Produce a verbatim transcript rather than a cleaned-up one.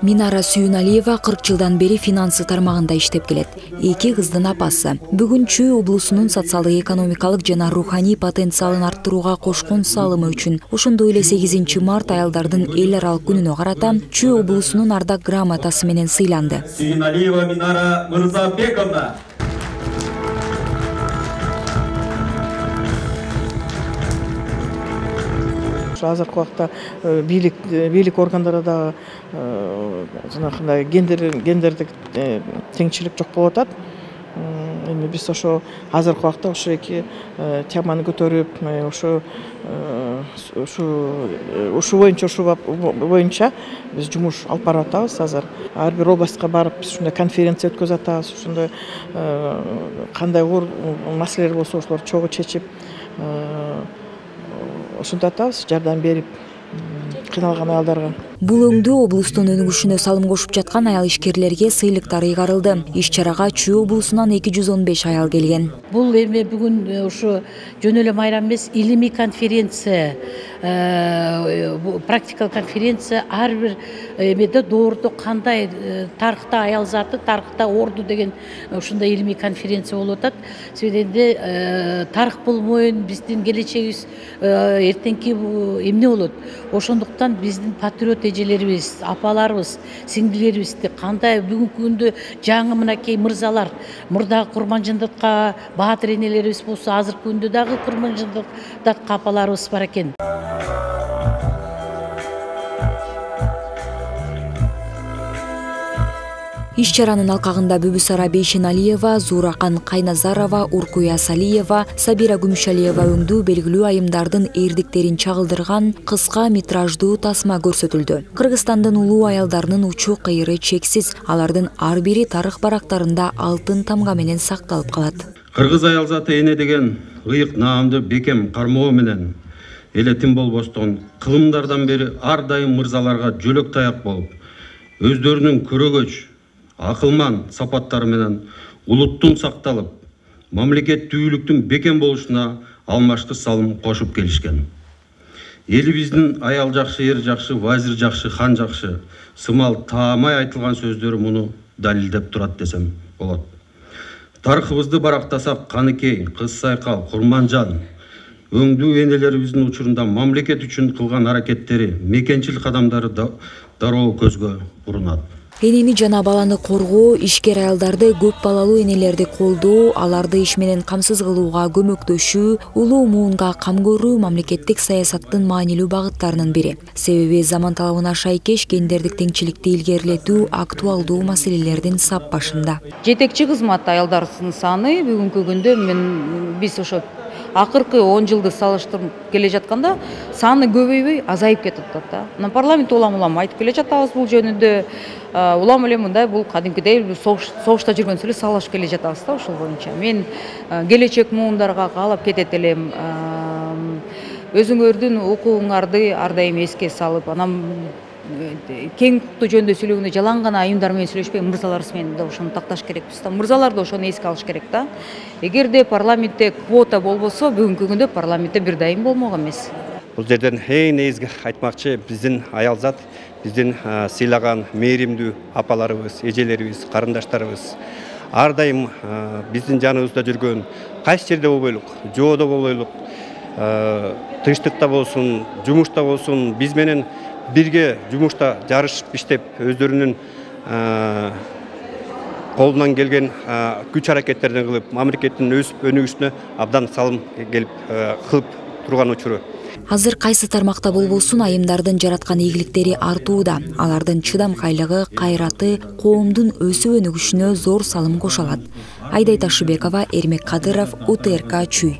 Минара Сүйүналиева кырк жылдан бери финансы тармагында иштеп келет. Эки кыздын апасы. Бүгүн Чүй облусунун социалдык экономикалык жана руханий потенциалын арттырууга кошкон салымы үчүн, ошондой эле сегизинчи март аялдардын эл аралык күнүнө карата Чүй облусунун ардак грамотасы менен сыйланды. Сүйүналиева Минара Мырзабековна. Азыркы убакта бийлик бийлик органдарында жанагындай гендер гендердик теңчилик жок болуп атат. Эми биз ошо азыркы убакта ошо эки теманы көтөрүп, ошо ушу ушу боюнча ушу боюнча биз жумуш алып барып атабыз азыр. Ар бир областка барып биз ушундай конференция өткөзүп атабыз. Ушундай кандай оор маселелер болсо ошолорду чогуу чечип ушунтип атабыз, жардам берип кыйналган аялдарга. Бул өңдүү облустун өнүгүшүнө салым кошуп жаткан аял ишкерлерге сыйлыктар ыйгарылды. Иш-чарага Чүй облусунан эки жүз он беш аял келген. Бул эми бүгүн ушу жөн эле майрам эмес, илимий конференция, практикалык конференция, ар бир эмеде доордо кандай тарыхта аял заты, тарыхта орду деген ушундай илимий конференция болуп атат. Себебинде тарых болбойн, биздин келечегибиз эртеңки эмне болот? Ошондуктан биздин патриот эжелерибиз, апаларыбыз, сиңдилерибизди кандай бүгүнкү күндө жаңы мынакей мырзалар, мурдагы Курманжандатка баатыр энелерибиз болсо, азыркы күндө дагы Курманжандатка апаларыбыз бар экен. Иш-чаранын алкагында Бүбүсара Бейшеналиева, Зуракан Кайназарова, Уркуя Салиева, Сабира Гүмүшалиева өңдүү белгилүү айымдардын эрдиктерин чагылдырган кыска метраждуу тасма көрсөтүлдү. Кыргызстандын улуу аялдарынын учу кыйры чексиз, алардын ар бири тарых барактарында алтын тамга менен сакталып калат. Кыргыз аял заты эне деген ыйык наамды бекем кармоо менен элетин болбостон кылымдардан бери ар дайым мырзаларга жөлөк таяк болуп, өздөрүнүн көрөгөч акылман сапаттары менен улуттун сакталып, мамлекеттүүлүктүн бекем болушуна алмашты салым кошуп келишкен. Элибиздин аял жакшы, эр жакшы, вазир жакшы, хан жакшы сымал таамай айтылган сөздөрү муну далилдеп турат десем болот. Тарыхыбызды барактасак, Каныкей, Кыз Сайкал, Курманжан өңдүү энелерибиздин учурунда мамлекет үчүн кылган аракеттери, мекенчил кадамдары дароо көзгө урунат. Энени жана баланы коргоо, ишкер аялдарды, көп балалуу энелерди колдоо, аларды иш менен камсыз кылууга көмөктөшүү, улуу муунга кам көрүү мамлекеттик саясаттын маанилүү багыттарынын бири. Себеби заман талабына шайкеш гендердик теңчиликти илгерилетүү актуалдуу маселелердин сап башында. Жетекчи кызмат аялдардын саны бүгүнкү күндө мен биз ошо акыркы он жылды салыштырып келе жатканда саны көбөйбөй азайып кетип атат да. Мына парламент улам-улам айтып келе жатабыз бул жөнүндө. Улам эле мындай бул кадимкидей согушта жүргөнсү эле салыш келе жатабыз да ошол боюнча. Мен келечек муундарга каалап кетет элем. Өзүңөрдүн укугуңарды ар дайым эске салып, анан кең укуктуу жөнүндө сүйлөгөндө жалаң гана айымдар менен сүйлөшпөй, мырзаларыбыз менен да ошону такташ керекпиз да. Мырзалар да ошону эске алыш керек да. Эгерде парламентте квота болбосо, бүгүнкү күндө парламентте бир дайым болмок эмес. Бул жерден эң негизги айтмакчы, биздин аял зат, биздин сыйлаган мээримдүү апаларыбыз, эжелерибиз, карындаштарыбыз ар дайым биздин жаныбызда жүргөн, кайсы жерде болбойлук, жоодо болбойлук, тынчтыкта болсун, жумушта болсун, биз менен бирге жумушта жарышып иштеп, өздөрүнүн колунан келген күч аракеттерин кылып, мамлекеттин өсүп өнүгүшүнө абдан салым келип кылып турган учуру. Азыр кайсы тармакта болбосун айымдардын жараткан ийгиликтери артууда. Алардын чыдамкайлыгы, кайраты коомдун өсүп өнүгүшүнө зор салым кошо алат. Айдай Ташыбекова, Эрмек Кадыров, У Т Р К Чүй.